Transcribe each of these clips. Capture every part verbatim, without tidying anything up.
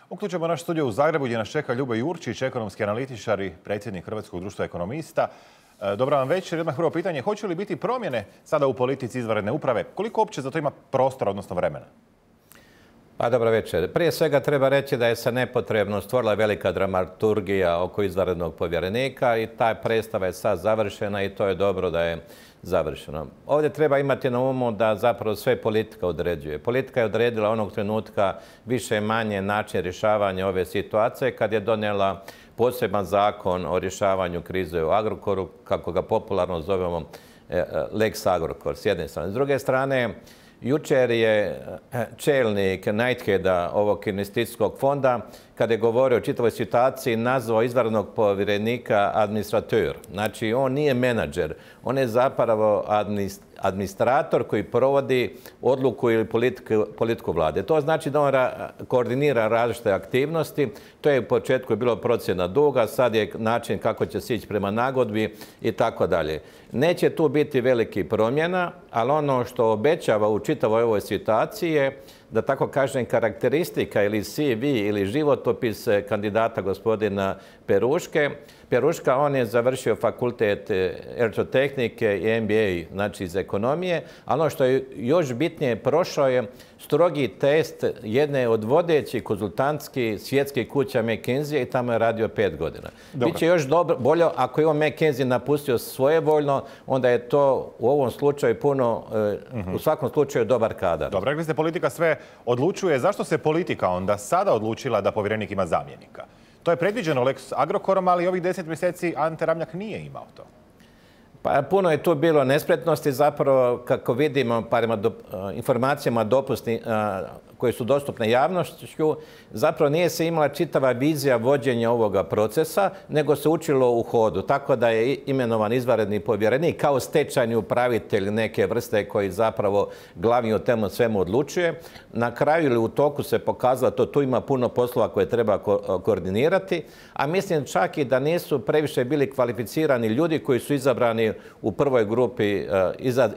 Uključujemo naš studio u Zagrebu gdje nas čeka Ljubo Jurčić, ekonomski analitičar i predsjednik Hrvatskog društva ekonomista. Dobra vam večer. Odmah prvo pitanje, hoće li biti promjene sada u politici izvanredne uprave? Koliko uopće za to ima prostora, odnosno vremena? Pa dobro večer. Prije svega treba reći da je se nepotrebno stvorila velika dramaturgija oko izvanrednog povjerenika i ta predstava je sad završena i to je dobro da je završeno. Ovdje treba imati na umu da zapravo sve politika određuje. Politika je odredila onog trenutka više manje način rješavanja ove situacije kad je donijela poseban zakon o rješavanju krize u Agrokoru, kako ga popularno zovemo Lex Agrokor s jedne strane. S druge strane, jučer je čelnik Knightheada ovog investicijskog fonda, kada je govorio o čitavoj situaciji, nazvao izvanrednog povjerenika administrator. Znači, on nije menadžer, on je zapravo administrator koji provodi odluku ili politiku, politiku vlade. To znači da on koordinira različite aktivnosti. To je u početku bilo procjena duga, sad je način kako će se ići prema nagodbi i tako dalje. Neće tu biti veliki promjena, ali ono što obećava u čitavoj ovoj situaciji je da tako kažem karakteristika ili C V ili životopis kandidata gospodina Peruške. Peruška, on je završio fakultet elektrotehnike i M B A, znači iz ekonomije, a ono što je još bitnije, prošao je strogi test jedne od vodećih konzultantskih svjetskih kuća McKinsey i tamo je radio pet godina. Biće još dobro, bolje ako je on McKinsey napustio svojevoljno, onda je to u ovom slučaju puno, uh-huh. u svakom slučaju dobar kadar. Dobro, rekli ste politika sve odlučuje. Zašto se politika onda sada odlučila da povjerenik ima zamjenika? To je predviđeno Lex Agrokorom, ali ovih deset mjeseci Ante Ramljak nije imao to. Pa puno je tu bilo nespretnosti, zapravo kako vidimo prema do, informacijama dopusni, koje su dostupne javnošću, zapravo nije se imala čitava vizija vođenja ovoga procesa, nego se učilo u hodu. Tako da je imenovan izvanredni povjerenik kao stečajni upravitelj neke vrste koji zapravo glavni o temu svemu odlučuje. Na kraju ili u toku se pokazalo da tu ima puno poslova koje treba ko koordinirati, a mislim čak i da nisu previše bili kvalificirani ljudi koji su izabrani u prvoj grupi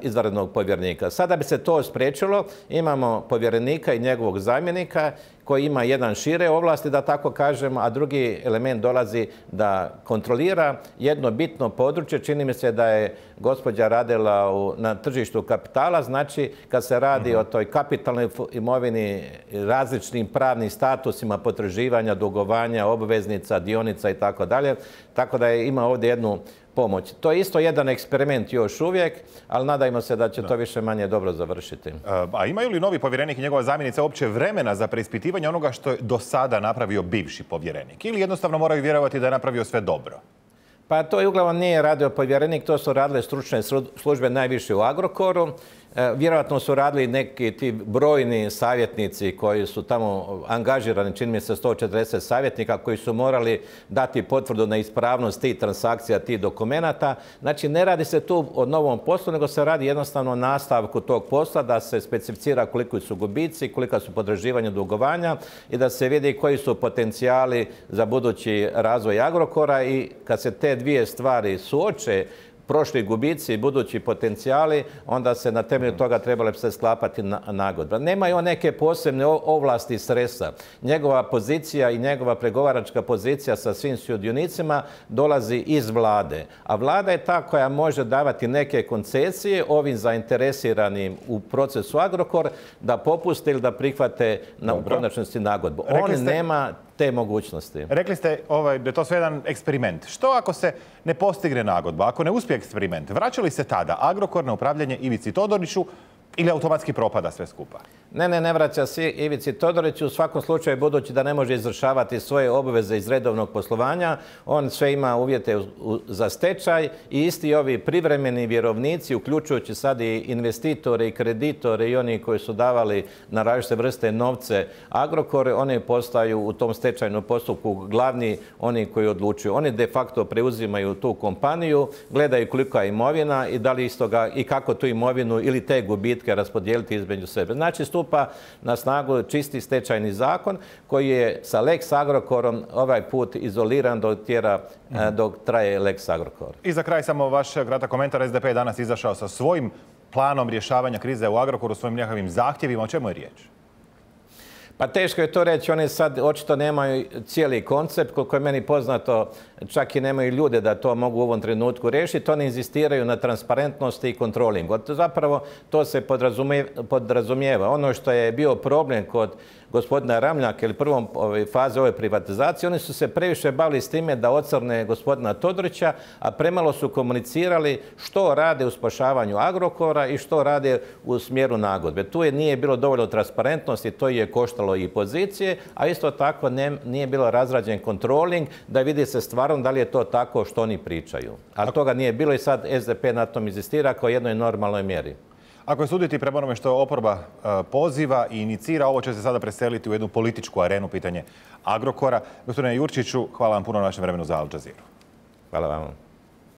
izvanrednog povjerenika. Sada bi se to spriječilo, imamo povjerenika i njegovog zamjenika koji ima jedan šire ovlasti, da tako kažemo, a drugi element dolazi da kontrolira jedno bitno područje. Čini mi se da je gospođa radila u, na tržištu kapitala, znači kad se radi uh-huh. o toj kapitalnoj imovini, različnim pravnim statusima, potraživanja, dugovanja, obveznica, dionica i tako dalje. Tako da je ima ovdje jednu pomoć. To je isto jedan eksperiment još uvijek, ali nadajmo se da će da. to više manje dobro završiti. A imaju li novi povjerenik i njegova zamjenica uopće vremena za preispitivanje onoga što je do sada napravio bivši povjerenik? Ili jednostavno moraju vjerovati da je napravio sve dobro? Pa to je uglavnom nije radio povjerenik, to su radile stručne službe najviše u Agrokoru. Vjerojatno su radili neki ti brojni savjetnici koji su tamo angažirani, čini mi se sto četrdeset savjetnika koji su morali dati potvrdu na ispravnost tih transakcija, tih dokumenata. Znači ne radi se tu o novom poslu, nego se radi jednostavno o nastavku tog posla, da se specificira koliko su gubici, kolika su potraživanja dugovanja i da se vidi koji su potencijali za budući razvoj Agrokora i kad se te dvije stvari suoče, prošli gubici i budući potencijali, onda se na temelju toga trebale se sklapati nagodba. Nemaju on neke posebne ovlasti sredstva. Njegova pozicija i njegova pregovaračka pozicija sa svim sudionicima dolazi iz vlade. A vlada je ta koja može davati neke koncesije ovim zainteresiranim u procesu Agrokor da popuste ili da prihvate na u konačnosti nagodbu. On ste... nema te mogućnosti. Rekli ste ovaj, da je to sve jedan eksperiment. Što ako se ne postigne nagodba, ako ne uspije eksperiment? Vraća li se tada Agrokor na upravljanje Ivici Todoriću ili automatski propada sve skupa? Ne, ne, ne vraća se Ivici Todoriću. U svakom slučaju, budući da ne može izvršavati svoje obveze iz redovnog poslovanja, on sve ima uvjete za stečaj i isti ovi privremeni vjerovnici, uključujući sad i investitore i kreditore i oni koji su davali na različite vrste novce Agrokore, oni postaju u tom stečajnom postupku glavni oni koji odlučuju. Oni de facto preuzimaju tu kompaniju, gledaju kolika je imovina i da li istoga i kako tu imovinu ili te gubitke raspodijeliti između sebe. Znači, stupa na snagu čisti stečajni zakon koji je sa Lex Agrokorom ovaj put izoliran dok, tjera, mm-hmm. dok traje Lex Agrokor. I za kraj samo vaš kratak komentar. S D P je danas izašao sa svojim planom rješavanja krize u Agrokoru, svojim nekakvim zahtjevima. O čemu je riječ? Pa teško je to reći, oni sad očito nemaju cijeli koncept, koliko je meni poznato, čak i nemaju ljude da to mogu u ovom trenutku riješiti, oni inzistiraju na transparentnosti i kontrolingu. Zapravo to se podrazumijeva. Ono što je bio problem kod gospodina Ramljaka ili prvom faze ove privatizacije, oni su se previše bavili s time da ocrne gospodina Todorića, a premalo su komunicirali što rade u spašavanju Agrokora i što rade u smjeru nagodbe. Tu je nije bilo dovoljno transparentnosti, to je koštalo i pozicije, a isto tako ne, nije bilo razrađen kontroling da vidi se stvarno da li je to tako što oni pričaju. Ali toga nije bilo i sad S D P na tom inzistira kao jednoj normalnoj mjeri. Ako je suditi prema onome što oporba poziva i inicira, ovo će se sada preseliti u jednu političku arenu, pitanje Agrokora. Gospodine Jurčiću, hvala vam puno na vašem vremenu za Al Jazeera. Hvala vam.